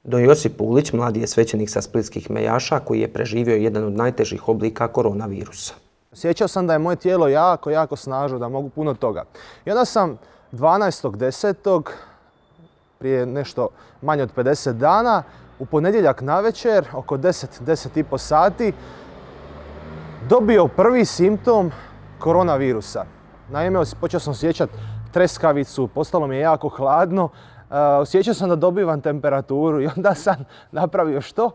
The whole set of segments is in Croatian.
Don Josip Pulić mladi je svećenik sa splitskih Mejaša koji je preživio jedan od najtežih oblika koronavirusa. Osjećao sam da je moje tijelo jako snažno, da mogu puno toga. I onda sam 12.10. prije nešto manje od 50 dana, u ponedjeljak navečer, oko 10 i po sati, dobio prvi simptom koronavirusa. Naime, počeo sam osjećati treskavicu, postalo mi je jako hladno, osjećao sam da dobivam temperaturu i onda sam napravio što?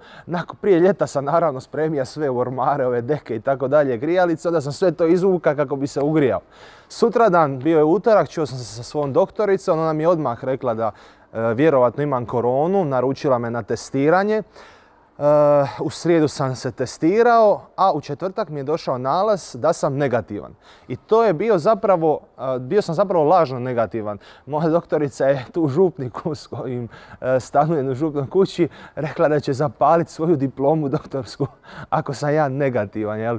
Prije ljeta sam naravno spremio sve u ormare, ove deke i tako dalje, grijalice, onda sam sve to izvukao kako bi se ugrijao. Sutradan, bio je utorak, čuo sam se sa svojom doktoricom, ona mi je odmah rekla da vjerovatno imam koronu, naručila me na testiranje. U srijedu sam se testirao, a u četvrtak mi je došao nalaz da sam negativan. I to je bio sam zapravo lažno negativan. Moja doktorica je tu u župniku s kojim stanujem u župnoj kući rekla da će zapaliti svoju diplomu doktorsku ako sam ja negativan. Jel?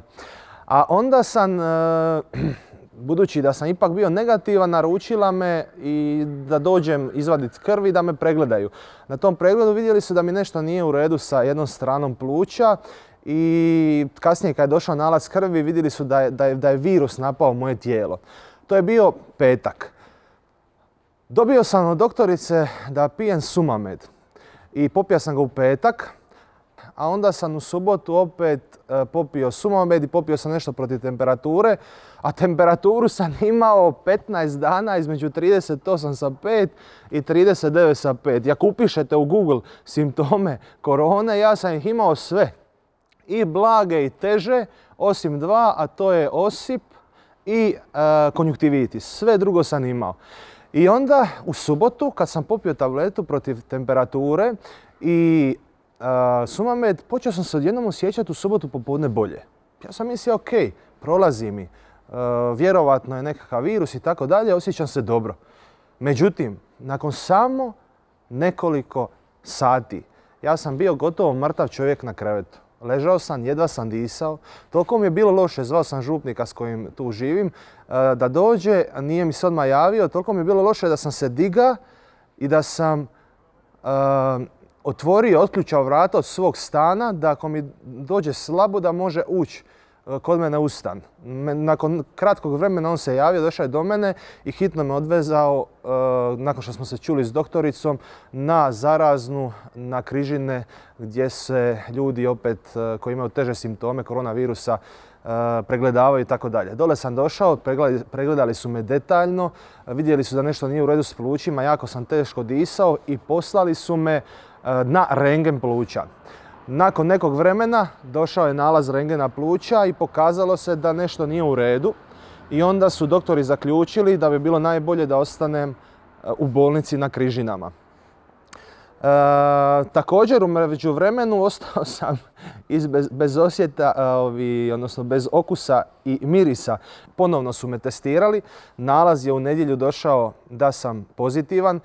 A onda sam, budući da sam ipak bio negativan, naručila me i da dođem izvaditi krv i da me pregledaju. Na tom pregledu vidjeli su da mi nešto nije u redu sa jednom stranom pluća i kasnije kad je došao nalaz krvi vidjeli su da je virus napao moje tijelo. To je bio petak. Dobio sam od doktorice da pijem Sumamed i popio sam ga u petak. A onda sam u subotu opet popio Sumamed i popio sam nešto protiv temperature, a temperaturu sam imao 15 dana između 38,5 i 39,5. Ako upišete u Google simptome korone, ja sam ih imao sve. I blage i teže, osim dva, a to je osip i konjunktivitis. Sve drugo sam imao. I onda u subotu, kad sam popio tabletu protiv temperature i Sumamed, počeo sam se odjednom osjećati u subotu popodne bolje. Ja sam mislio, ok, prolazi mi, vjerovatno je nekakav virus i tako dalje, osjećam se dobro. Međutim, nakon samo nekoliko sati, ja sam bio gotovo mrtav čovjek na krevetu. Ležao sam, jedva sam disao, toliko mi je bilo loše, zvao sam župnika s kojim tu živim, da dođe, nije mi se odmah javio, toliko mi je bilo loše da sam se digao i da sam otvorio, otključao vrata od svog stana da ako mi dođe slabo da može ući kod mene u stan. Nakon kratkog vremena on se javio, došao je do mene i hitno me odvezao, nakon što smo se čuli s doktoricom, na Zaraznu, na Križine, gdje se ljudi opet koji imaju teže simptome koronavirusa pregledavaju i tako dalje. Dole sam došao, pregledali su me detaljno, vidjeli su da nešto nije u redu s plućima, jako sam teško disao i poslali su me na rentgen pluća. Nakon nekog vremena došao je nalaz rentgena pluća i pokazalo se da nešto nije u redu. I onda su doktori zaključili da bi bilo najbolje da ostanem u bolnici na Križinama. Također u međuvremenu ostao sam bez osjeta, odnosno bez okusa i mirisa. Ponovno su me testirali. Nalaz je u nedjelju došao da sam pozitivan.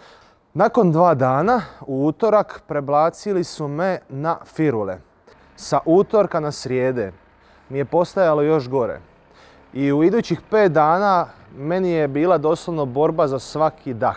Nakon 2 dana, u utorak, prebacili su me na firule. Sa utorka na srijede mi je postajalo još gore. I u idućih 5 dana meni je bila doslovno borba za svaki dah.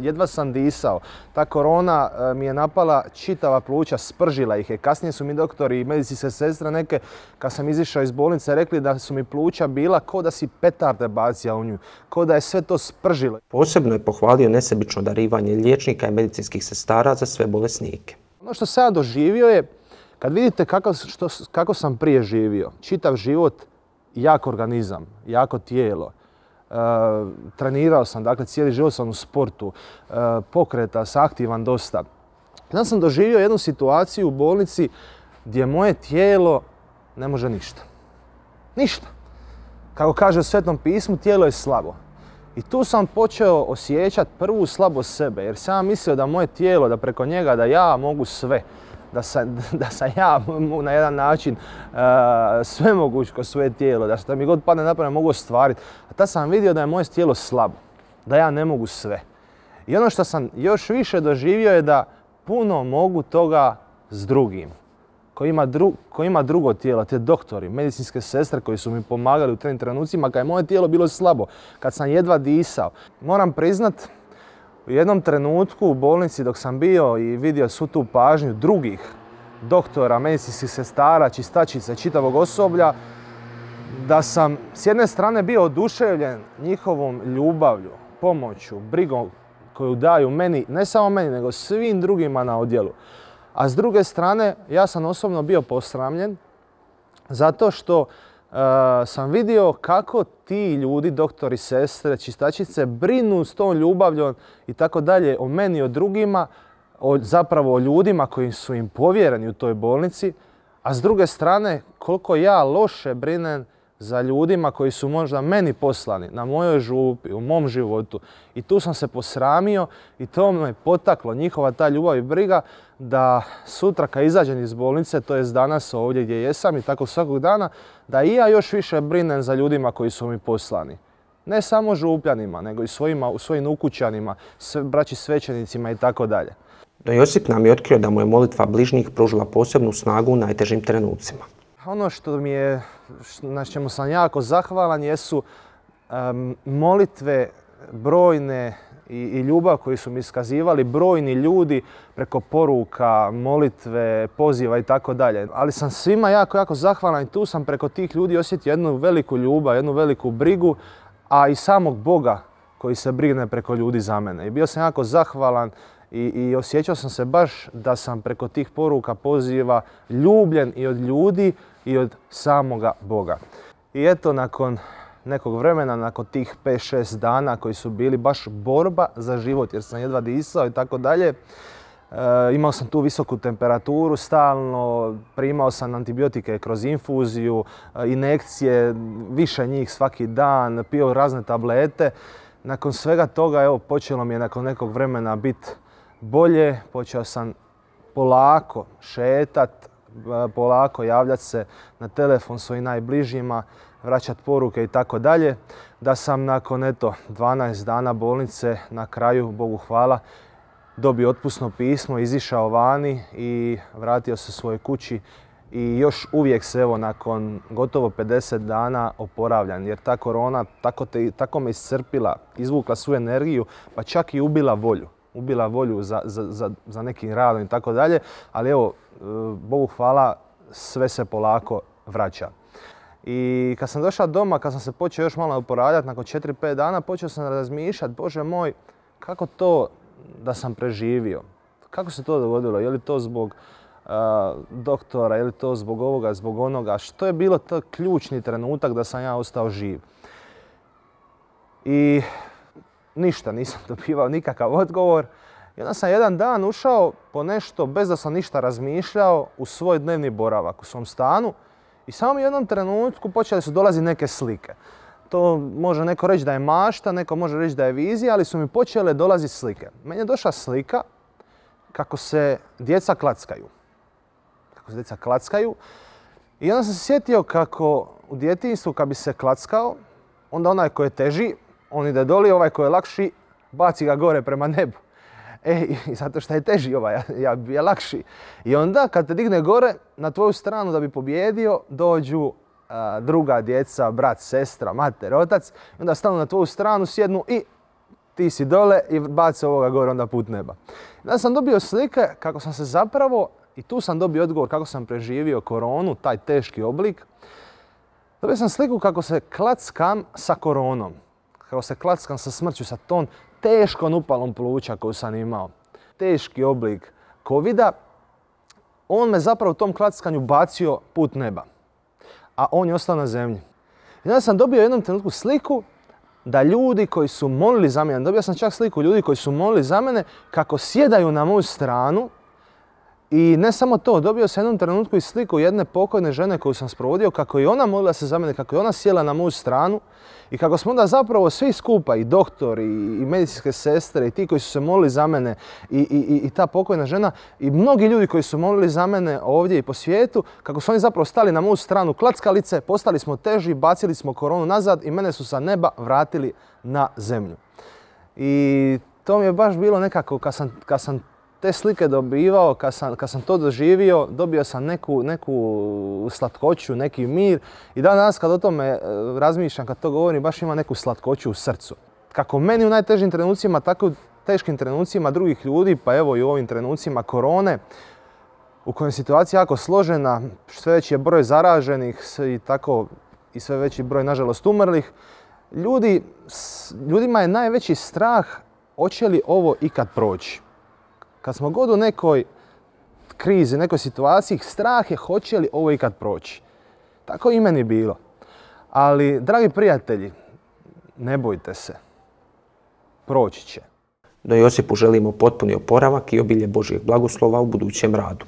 Jedva sam disao. Ta korona mi je napala čitava pluća, spržila ih je. Kasnije su mi doktori i medicinske sestre neke, kad sam izišao iz bolnice, rekli da su mi pluća bila ko da si petarde bacio u nju, ko da je sve to spržilo. Posebno je pohvalio nesebično darivanje liječnika i medicinskih sestara za sve bolesnike. Ono što sam ja doživio je, kad vidite kako sam prije živio, čitav život, jak organizam, jako tijelo, trenirao sam, dakle cijeli život sam u sportu, pokreta sam, aktivan dosta. Onda sam doživio jednu situaciju u bolnici gdje moje tijelo ne može ništa. Ništa. Kako kaže u Svetom pismu, tijelo je slabo. I tu sam počeo osjećati prvu slabost sebe, jer sam mislio da moje tijelo, da preko njega, da ja mogu sve. Da sam ja na jedan način sve moguć kroz svoje tijelo, da što mi god padne na pamet mogu ostvariti. A tad sam vidio da je moje tijelo slabo, da ja ne mogu sve. I ono što sam još više doživio je da puno mogu toga s drugim, koji ima drugo tijelo, te doktori, medicinske sestre koji su mi pomagali u tim trenucima kad je moje tijelo bilo slabo, kad sam jedva disao. Moram priznat, U jednom trenutku u bolnici dok sam bio i vidio svu tu pažnju drugih doktora, medicinskih sestara, čistačica, čitavog osoblja, da sam s jedne strane bio oduševljen njihovom ljubavlju, pomoću, brigom koju daju meni, ne samo meni, nego svim drugima na odjelu. A s druge strane, ja sam osobno bio posramljen zato što sam vidio kako ti ljudi, doktori, sestre, čistačice, brinu s tom ljubavljom i tako dalje o meni i o drugima, zapravo o ljudima koji su im povjereni u toj bolnici, a s druge strane koliko ja loše brinem za ljudima koji su možda meni poslani, na mojoj župi, u mom životu. I tu sam se posramio i to me potaklo, njihova ta ljubav i briga, da sutra kad izađem iz bolnice, to jest danas ovdje gdje jesam i tako svakog dana, da i ja još više brinem za ljudima koji su mi poslani. Ne samo župljanima, nego i svojim ukućanima, braći svećenicima i tako dalje. No Josip nam je otkrio da mu je molitva bližnjih pružila posebnu snagu u najtežim trenucima. Ono što mi je, na čemu sam jako zahvalan, jesu molitve brojne i ljubav koju su mi iskazivali brojni ljudi preko poruka, molitve, poziva i tako dalje. Ali sam svima jako zahvalan i tu sam preko tih ljudi osjetio jednu veliku ljubav, jednu veliku brigu, a i samog Boga koji se brine preko ljudi za mene. I bio sam jako zahvalan i osjećao sam se baš da sam preko tih poruka, poziva ljubljen i od ljudi i od samoga Boga. I eto, nakon nekog vremena, nakon tih 5-6 dana koji su bili baš borba za život jer sam jedva disao i tako dalje, imao sam tu visoku temperaturu stalno, primao sam antibiotike kroz infuziju, injekcije, više njih svaki dan, pio razne tablete. Nakon svega toga, evo, počelo mi je nakon nekog vremena biti bolje, počeo sam polako šetat, polako javljati se na telefon svojim najbližima, vraćati poruke i tako dalje. Da sam nakon 12 dana bolnice na kraju, Bogu hvala, dobio otpusno pismo, izišao vani i vratio se svojoj kući. I još uvijek se evo nakon gotovo 50 dana oporavljam jer ta korona tako me iscrpila, izvukla svu energiju pa čak i ubila volju. Ubila volju za nekim radom i tako dalje, ali evo, Bogu hvala, sve se polako vraća. I kad sam došao doma, kad sam se počeo još malo oporavljati, nakon 4-5 dana, počeo sam razmišljati, Bože moj, kako to da sam preživio? Kako se to dogodilo? Je li to zbog doktora, je li to zbog ovoga, zbog onoga? Što je bilo to ključni trenutak da sam ja ostao živ? I ništa, nisam dobivao nikakav odgovor. I onda sam jedan dan ušao po nešto, bez da sam ništa razmišljao, u svoj dnevni boravak u svom stanu i samo u jednom trenutku počele su dolaziti neke slike. To može neko reći da je mašta, neko može reći da je vizija, ali su mi počele dolaziti slike. Meni je došla slika kako se djeca klackaju. I onda sam se sjetio kako u djetinjstvu kad bi se klackao, onda onaj koji je teži, on ide doli, ovaj koji je lakši, baci ga gore prema nebu. I zato što je teži ovaj, ja bi je lakši. I onda kad te digne gore, na tvoju stranu da bi pobjedio, dođu druga djeca, brat, sestra, mater, otac. I onda stanu na tvoju stranu, sjednu i ti si dole i baci ovoga gore onda put neba. I onda sam dobio slike kako sam se zapravo, i tu sam dobio odgovor kako sam preživio koronu, taj teški oblik. Dobio sam sliku kako se klackam sa koronom. Kako se klackam sa smrću, sa tom teškom upalom pluća koju sam imao. Teški oblik covida. On me zapravo u tom klackanju bacio put neba. A on je ostao na zemlji. I onda sam dobio u jednom trenutku sliku da ljudi koji su molili za mene, dobio sam čak sliku ljudi koji su molili za mene kako sjedaju na moju stranu. I ne samo to, dobio sam u jednom trenutku i sliku jedne pokojne žene koju sam sprovodio, kako je ona molila se za mene, kako je ona sjela na moju stranu i kako smo onda zapravo svi skupa, i doktori, i medicinske sestre, i ti koji su se molili za mene, i ta pokojna žena, i mnogi ljudi koji su molili za mene ovdje i po svijetu, kako su oni zapravo stali na moju stranu klackalice, postali smo teži, bacili smo koronu nazad i mene su sa neba vratili na zemlju. I to mi je baš bilo nekako, kad sam te slike dobivao, kad sam to doživio, dobio sam neku slatkoću, neki mir. I dan danas kad o tome razmišljam, kad to govorim, baš ima neku slatkoću u srcu. Kako meni u najtežim trenucima, tako teškim trenucima drugih ljudi, pa evo i u ovim trenucima korone, u kojoj je situacija jako složena, sve veći je broj zaraženih i sve veći broj, nažalost, umrlih, ljudima je najveći strah hoće li ovo ikad proći. Kad smo god u nekoj krizi, nekoj situaciji, strah je hoće li ovo ikad proći. Tako i meni bilo. Ali, dragi prijatelji, ne bojte se. Proći će. No Josipu želimo potpuni oporavak i obilje Božjeg blagoslova u budućem radu.